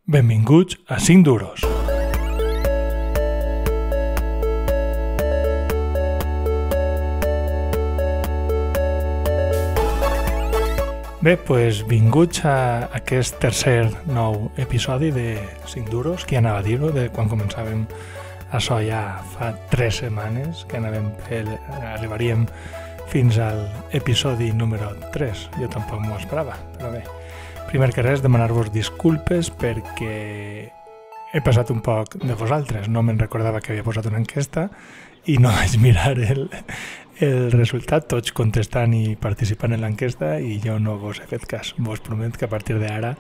Benvinguts a 5 duros. Bé, doncs vinguts a aquest tercer nou episodi de 5 duros, qui anava a dir-ho, de quan començàvem això ja fa 3 setmanes, que arribaríem fins al episodi número 3. Jo tampoc m'ho esperava, però bé. Primer que res, demanar-vos disculpes perquè he passat un poc de vosaltres. No me'n recordava que havia posat una enquesta i no vaig mirar el resultat, tots contestant i participant en l'enquesta, i jo no vos he fet cas. Vos promet que a partir d'ara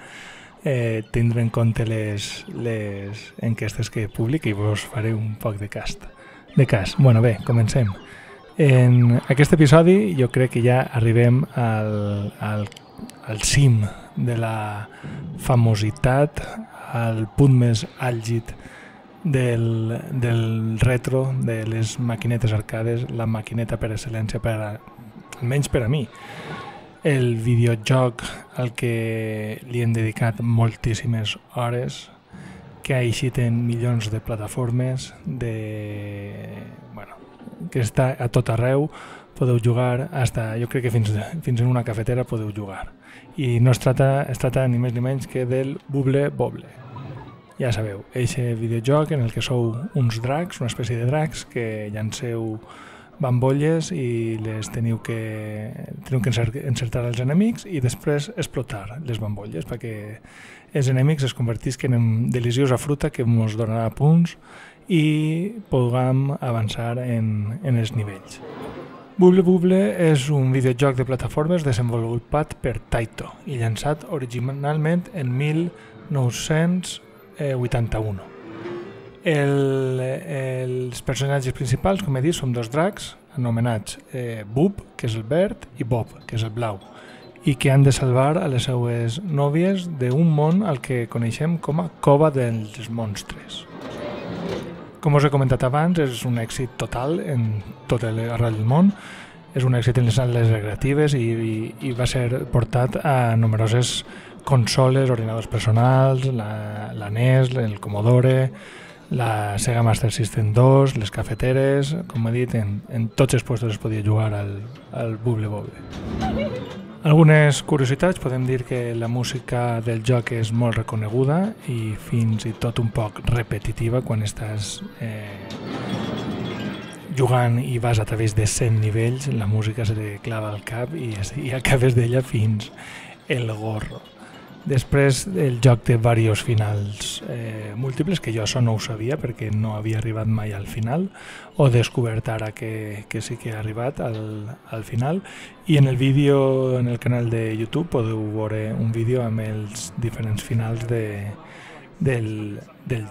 tindré en compte les enquestes que publico i vos faré un poc de cas. Bueno, bé, comencem. En aquest episodi jo crec que ja arribem al cim de la famositat, al punt més àlgid del retro, de les maquinetes arcades, la maquineta per excel·lència, almenys per a mi. El videojoc al que li hem dedicat moltíssimes hores, que ha eixit en milions de plataformes, que està a tot arreu, podeu jugar, jo crec que fins en una cafetera podeu jugar. I no es tracta ni més ni menys que del Bubble Bobble. Ja sabeu, eixe videojoc en el que sou uns dracs, una espècie de dracs, que llanceu bambolles i les teniu que encertar els enemics i després explotar les bambolles perquè els enemics es convertisquen en deliciosa fruta que ens donarà punts i puguem avançar en els nivells. Bubble Bobble és un videojoc de plataformes desenvolupat per Taito i llançat originalment en 1981. Els personatges principals, com he dit, són dos dracs anomenats Bub, que és el verd, i Bob, que és el blau, i que han de salvar a les seues nòvies d'un món al que coneixem com a Cova dels Monstres. Com us he comentat abans, és un èxit total en tot arreu del món. És un èxit en les sales recreatives i va ser portat a numeroses consoles, ordinadors personals, la NES, el Commodore, la Sega Master System 2, les cafeteres. Com he dit, en tots els puestos es podia jugar al Bubble Bobble. Algunes curiositats, podem dir que la música del joc és molt reconeguda i fins i tot un poc repetitiva quan estàs jugant i vas a través de 100 nivells, la música se te clava al cap i acabes d'ella fins el gorro. Després el joc té diversos finals múltiples, que jo això no ho sabia perquè no havia arribat mai al final, o descobert ara que sí que he arribat al final, i en el vídeo, en el canal de YouTube, podeu veure un vídeo amb els diferents finals del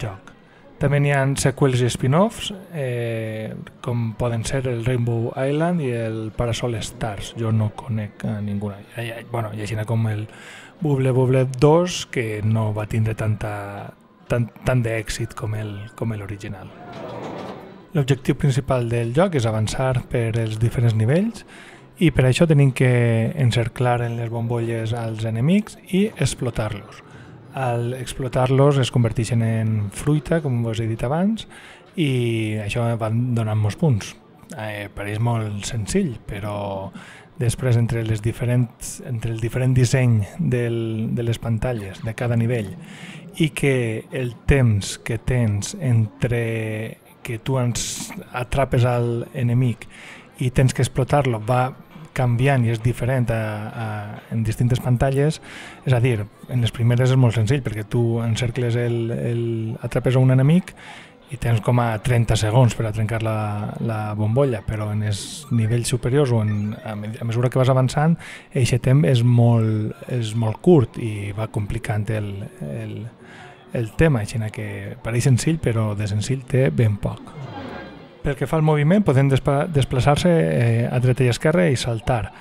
joc. També n'hi ha seqüels i spin-offs, com poden ser el Rainbow Island i el Parasol Stars. Jo no conec a ninguna. I així com el Bubble Bobble 2, que no va tindre tant d'èxit com l'original. L'objectiu principal del joc és avançar per els diferents nivells i per això tenim que encerclar en les bombolles als enemics i explotar-los. Al explotar-los es converteixen en fruita, com us he dit abans, i això va donant molts punts. Pareix molt senzill, però després entre el diferent disseny de les pantalles de cada nivell i que el temps que tens entre que tu atrapes al enemic i tens que explotar-lo va canviant i és diferent en distintes pantalles, és a dir, en les primeres és molt senzill perquè tu encercles atrapes a un enemic i tens com a 30 segons per a trencar la bombolla, però en els nivells superiors o a mesura que vas avançant, aquest temps és molt curt i va complicant el tema, així que pareix senzill, però de senzill té ben poc. Pel que fa al moviment, podem desplaçar-se a dreta i esquerra i saltar.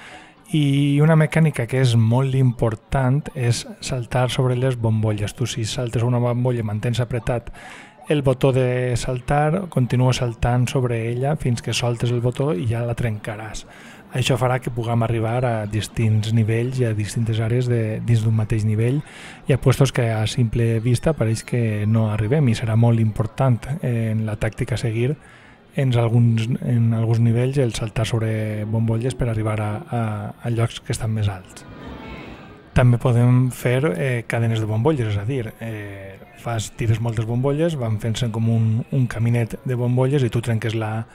I una mecànica que és molt important és saltar sobre les bombolles. Tu, si saltes una bombolla i mantens apretat el botó de saltar, continua saltant sobre ella fins que soltes el botó i ja la trencaràs. Això farà que puguem arribar a distints nivells i a distintes àrees dins d'un mateix nivell. Hi ha puestos que a simple vista pareix que no arribem i serà molt important en la tàctica a seguir en alguns nivells el saltar sobre bombolles per arribar a llocs que estan més alts. També podem fer cadenes de bombolles, és a dir, tires moltes bombolles, van fent-se com un caminet de bombolles i tu trenques la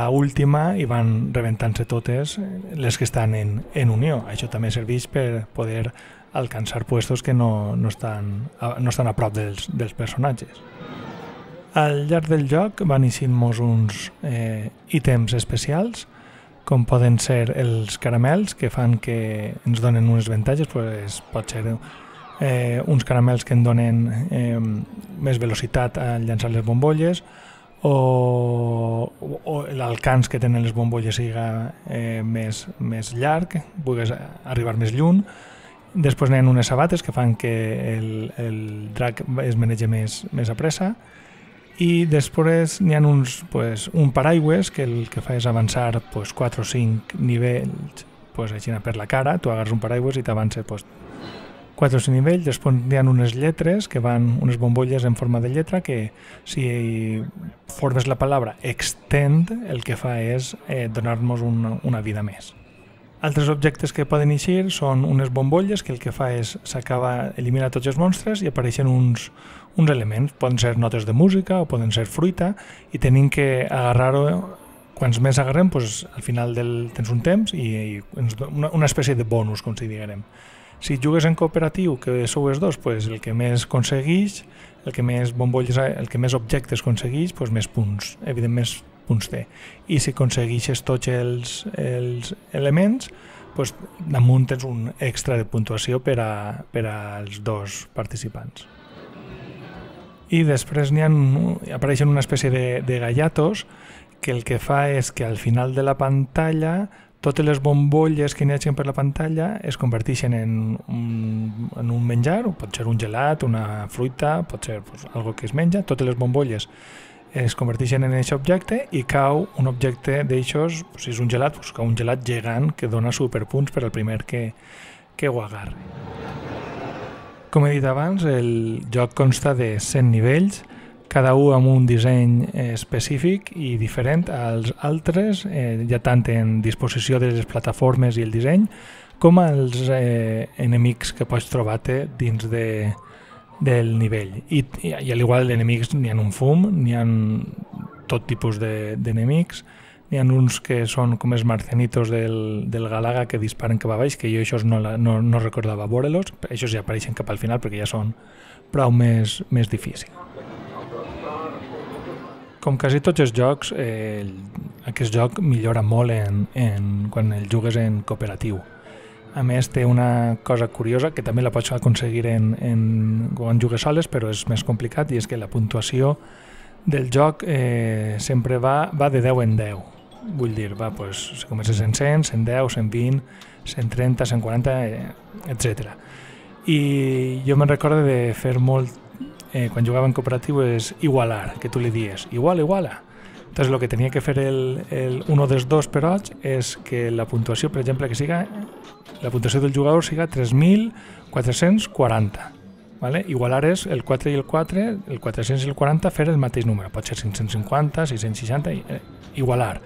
última i van rebentant-se totes les que estan en unió. Això també serveix per poder alcançar puestos que no estan a prop dels personatges. Al llarg del joc van eixint-nos uns ítems especials, com poden ser els caramels, que fan que ens donen unes avantatges, pot ser uns caramels que en donen més velocitat al llançar les bombolles, o l'alcance que tenen les bombolles siga més llarg, pugues arribar més lluny. Després n'hi ha unes sabates que fan que el drac es manegi més a pressa, i després n'hi ha un paraigües que el que fa és avançar 4 o 5 nivells així per la cara. Tu agarres un paraigües i t'avança 4 o 5 nivells. Després n'hi ha unes lletres que van, unes bombolles en forma de lletra que si formes la paraula extend el que fa és donar-nos una vida més. Altres objectes que poden eixir són unes bombolles que el que fa és eliminar tots els monstres i apareixen uns elements. Poden ser notes de música o poden ser fruita i tenim que agarrar-ho. Quants més agarrem, al final tens un temps i una espècie de bonus, com si diguem. Si jugues en cooperatiu, que sou els dos, el que més aconsegueix, el que més bombolles, el que més objectes aconsegueix, més punts, evidentment més punts té. I si aconsegueixes tots els elements, damunt tens un extra de puntuació per als dos participants. I després apareixen una espècie de gallatos que el que fa és que al final de la pantalla totes les bombolles que n'hi hagi per la pantalla es converteixen en un menjar, pot ser un gelat, una fruita, pot ser algo que es menja. Totes les bombolles es converteixen en aquest objecte i cau un objecte d'aixòs, si és un gelat, cau un gelat gegant que dona superpunts per al primer que ho agarri. Com he dit abans, el joc consta de 100 nivells, cada un amb un disseny específic i diferent als altres, ja tant en disposició de les plataformes i el disseny, com als enemics que pots trobar-te dins del nivell. I a l'igual d'enemics n'hi ha un fum, n'hi ha tot tipus d'enemics, n'hi ha uns que són com els marcianitos del Galaga que disparen cap a baix, que jo això no recordava veure-los, això ja apareixen cap al final perquè ja són prou més difícils. Com quasi tots els jocs, aquest joc millora molt quan el jugues en cooperatiu. A més, té una cosa curiosa que també la pots aconseguir quan jugues soles, però és més complicat, i és que la puntuació del joc sempre va de 10 en 10. Vull dir, si comences en 100, 110, 120, 130, 140, etc. I jo me'n recordo de fer molt, quan jugava en cooperatiu, és igualar, que tu li dies, iguala. Entonces, el que tenia que fer un dels dos perots és que la puntuació, per exemple, la puntuació del jugador siga 3.440. ¿Vale? Igualar és el 4 i el 4, el 400 i el 40, fer el mateix número. Pot ser 550, 660, igualar.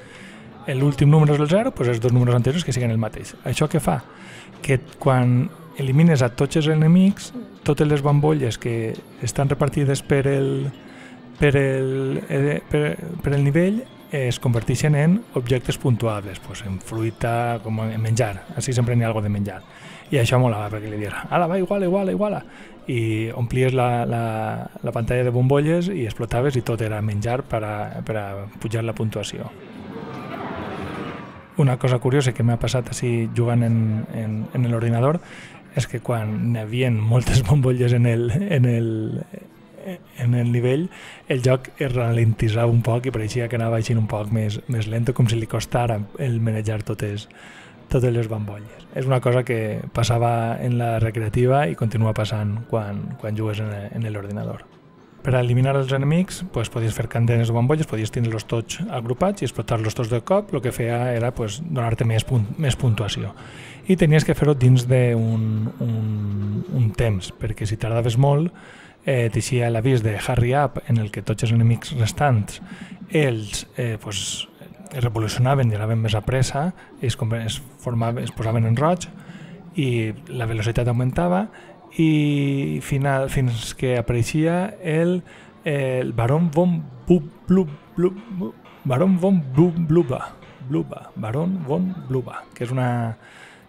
L'últim número és el 0, els dos números anteriors que siguin el mateix. Això què fa? Que quan elimines a tots els enemics, totes les bombolles que estan repartides per el nivell es converteixen en objectes puntuables, en fruita, com en menjar. Així sempre n'hi ha alguna de menjar. I això molava, perquè li dius, ala, va, iguala. I omplies la pantalla de bombolles i explotaves i tot era menjar per a pujar la puntuació. Una cosa curiosa que m'ha passat així jugant en l'ordinador és que quan n'hi havia moltes bombolles en el nivell, el joc es ralentitzava un poc i pareixia que anava així un poc més lento, com si li costara el manejar totes les bombolles. És una cosa que passava en la recreativa i continua passant quan jugues en l'ordinador. Per eliminar els enemics podies fer candenes de bombolles, podies tindre-los tots agrupats i explotar-los tots de cop. El que feia era donar-te més puntuació. I tenies que fer-ho dins d'un temps, perquè si tardaves molt t'eixia l'avís de Hurry Up, en el que tots els enemics restants ells es revolucionaven i anaven més a pressa, es posaven en roig i la velocitat augmentava, i fins que apareixia el Baron von Bluba, que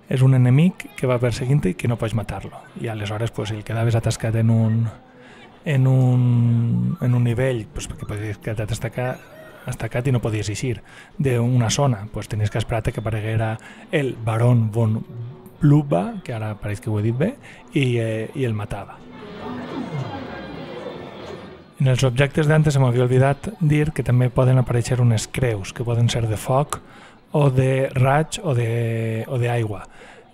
és un enemic que va perseguint-te i que no pots matar-lo. I aleshores, si el quedaves atascat en un nivell, perquè podies quedar estacat i no podies eixir d'una zona, tenies que esperar que apareguera el Baron von Bluba, que ara pareix que ho he dit bé, i el matava. En els objectes d'antes se m'havia oblidat dir que també poden aparèixer unes creus, que poden ser de foc o de raig o d'aigua.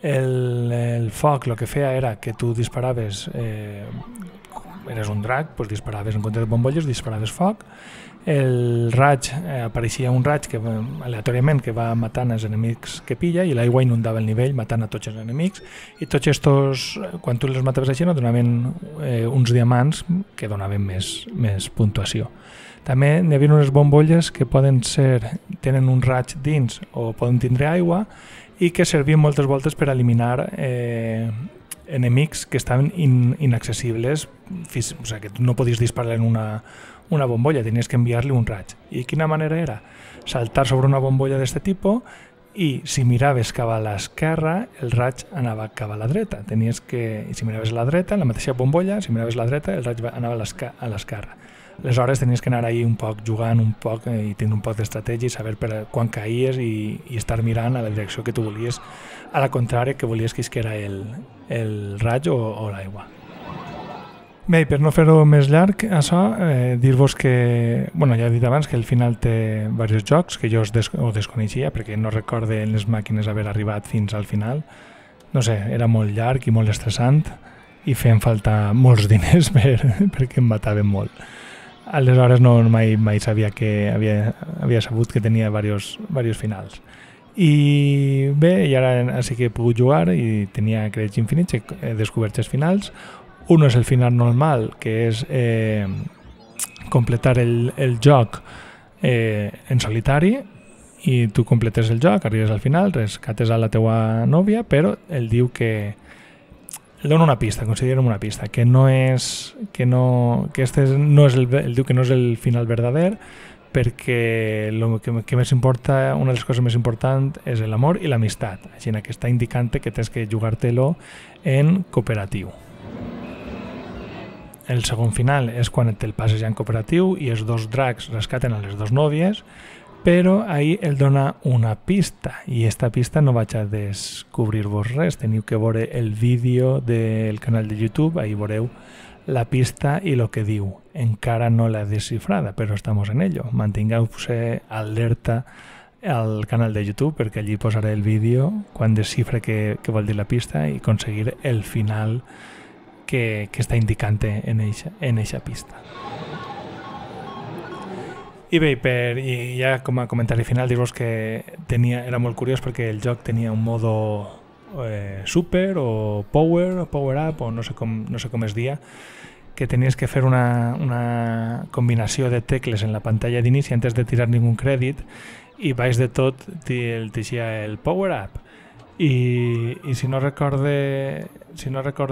El foc el que feia era que tu disparaves, eres un drac, disparaves en compte de bombolles, disparaves foc. El raig, apareixia un raig que aleatòriament que va matant els enemics que pilla, i l'aigua inundava el nivell matant a tots els enemics, i tots estos, quan tu els mataves així, no donaven uns diamants que donaven més puntuació. També n'hi havia unes bombolles que tenen un raig dins o poden tindre aigua i que servien moltes voltes per eliminar enemics que estaven inaccessibles, o sigui, que no podies disparar en una bombolla, tenies que enviar-li un raig. I quina manera era? Saltar sobre una bombolla d'aquest tipus, i si miraves cap a l'esquerra, el raig anava cap a la dreta. Si miraves a la dreta, la mateixa bombolla, si miraves a la dreta, el raig anava a l'esquerra. Aleshores tenies que anar ahí un poc jugant un poc i tenir un poc d'estratègia i saber per quan caïes i estar mirant a la direcció que tu volies, a la contrària que volies que isquera el raig o l'aigua. Bé, per no fer-ho més llarg, això, dir-vos que, ja he dit abans que el final té diversos jocs que jo ho desconeixia perquè no recorde en les màquines haver arribat fins al final. No sé, era molt llarg i molt estressant i feien falta molts diners perquè em mataven molt. Aleshores mai sabia que havia sabut que tenia diversos finals. I bé, i ara sí que he pogut jugar i tenia crèdits infinits, he descobert els finals. Un és el final normal, que és completar el joc en solitari, i tu completes el joc, arribes al final, rescates a la teua nòvia, però ell diu que el dona una pista, consideren una pista, que no és ell diu que no és el final verdader, perquè que més importa, una de les coses més importants és l'amor i l'amistat, així que està indicant que tens que jugar-te-lo en cooperatiu. El segon final és quan te'l passes ja en cooperatiu i els dos dracs rescaten a les dues nòvies, però ahir el dona una pista, i aquesta pista no vaig a descobrir-vos res, teniu que veure el vídeo del canal de YouTube, ahir veureu la pista i el que diu. Encara no l'he descifrada, però estamos en ello. Mantingueu-vos alerta al canal de YouTube perquè allí posaré el vídeo quan descifre què vol dir la pista i aconseguir el final que està indicant en eixa pista. I bé, ja com a comentari final, dir-vos que era molt curiós perquè el joc tenia un modo super o power up, o no sé com es dia, que tenies que fer una combinació de tecles en la pantalla d'inici antes de tirar ningú crèdit, i baix de tot t'eixia el power up. I si no recorde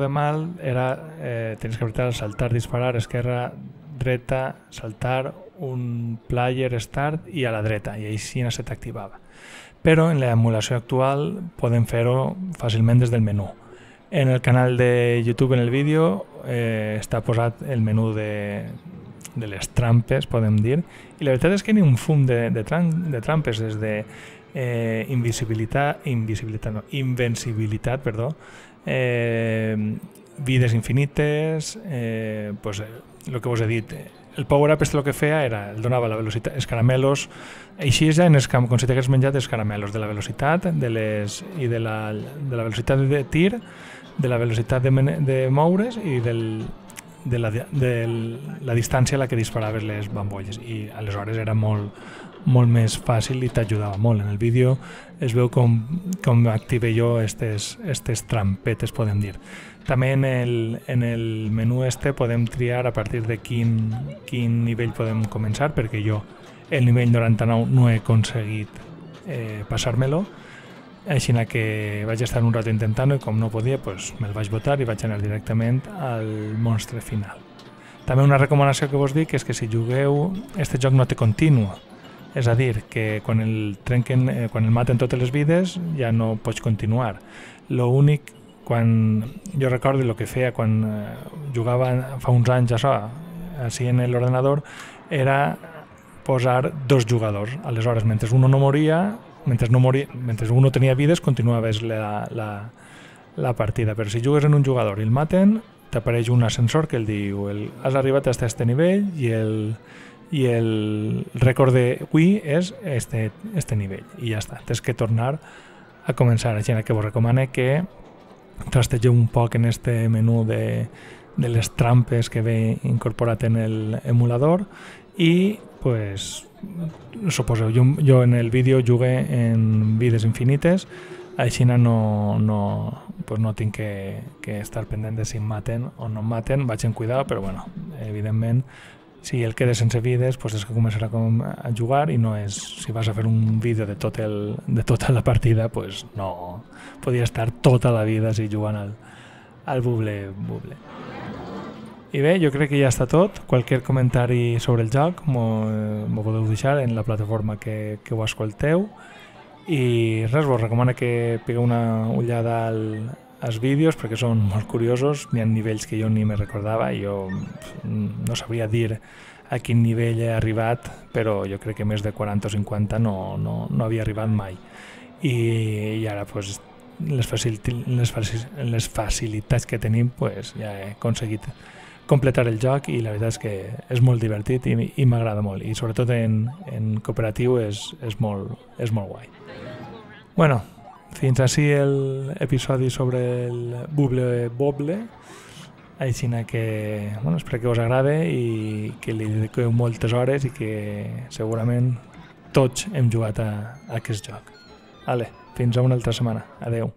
mal, tenies que apretar saltar, disparar, esquerra, dreta, saltar, un player start i a la dreta, i així se t'activava. Però en l'emulació actual podem fer-ho fàcilment des del menú. En el canal de YouTube, en el vídeo, està posat el menú de les trampes, podem dir, i la veritat és que n'hi ha un fum de trampes, des de invencibilitat, vides infinites, el que vos he dit. El power-up el que feia era, el donava la velocitat, els caramelos, així ja com si t'hagués menjat els caramelos, de la velocitat i de la velocitat de tir, de la velocitat de moure's i la distància a la que disparaves les bambolles, i aleshores era molt més fàcil i t'ajudava molt. En el vídeo es veu com active jo estes trampetes, podem dir. També en el menú podem triar a partir de quin nivell podem començar, perquè jo el nivell 99 no he aconseguit passar-me-lo, així que vaig estar un rato intentant-ho i com no podia, me'l vaig botar i vaig anar directament al monstre final. També una recomanació que vos dic és que si jugueu, este joc no té continu, és a dir, que quan el maten totes les vides ja no pots continuar. L'únic, quan jo recordo el que feia quan jugava fa uns anys així en l'ordenador, era posar 2 jugadors. Aleshores, mentre uno no moria, mentre uno tenia vides, continuaves la partida. Però si jugues en un jugador i el maten, t'apareix un ascensor que el diu has arribat a este nivell i el rècord d'avui és este nivell. I ja està, tens que tornar a començar. Així que vos recomano que trastegeu un poc en este menú de les trampes que ve incorporat en l'emulador i suposeu, jo en el vídeo jugué en vides infinites, així no tinc que estar pendent de si em maten o no em maten, vaig en cuidado, però bueno, evidentment si el quedes sense vides és que començarà a jugar i no és, si vas a fer un vídeo de tota la partida, no podia estar tota la vida així jugant al buble. I bé, jo crec que ja està tot. Qualsevol comentari sobre el joc m'ho podeu deixar en la plataforma que ho escolteu. I res, vos recomano que pegueu una ullada als vídeos perquè són molt curiosos. N'hi ha nivells que jo ni me recordava. Jo no sabria dir a quin nivell he arribat, però jo crec que més de 40 o 50 no havia arribat mai. I ara, les facilitats que tenim, ja he aconseguit completar el joc i la veritat és que és molt divertit i m'agrada molt, i sobretot en cooperatiu és molt guai. Bueno, fins així l'episodi sobre el Bubble Bobble, així que espero que us agrade i que li dediqueu moltes hores i que segurament tots hem jugat a aquest joc. Fins a una altra setmana. Adeu.